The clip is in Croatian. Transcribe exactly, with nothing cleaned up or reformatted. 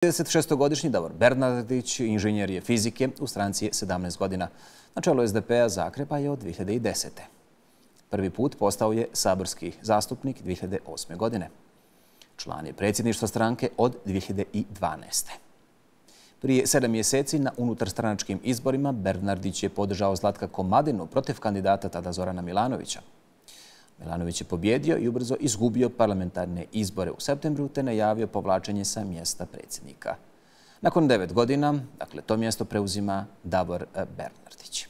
tridesetšestogodišnji Davor Bernardić, inženjer je fizike, u stranci je sedamnaest godina. Na čelu S D P-a Zagreba je od dvije hiljade desete. Prvi put postao je saborski zastupnik dvije hiljade osme. godine. Član je predsjedništva stranke od dvije hiljade dvanaeste. Prije sedam mjeseci na unutarstranačkim izborima Bernardić je podržao Zlatka Komadinu protiv kandidata tada Zorana Milanovića. Milanović je pobjedio i ubrzo izgubio parlamentarne izbore u septembru te najavio povlačenje sa mjesta predsjednika. Nakon devet godina, dakle, to mjesto preuzima Davor Bernardić.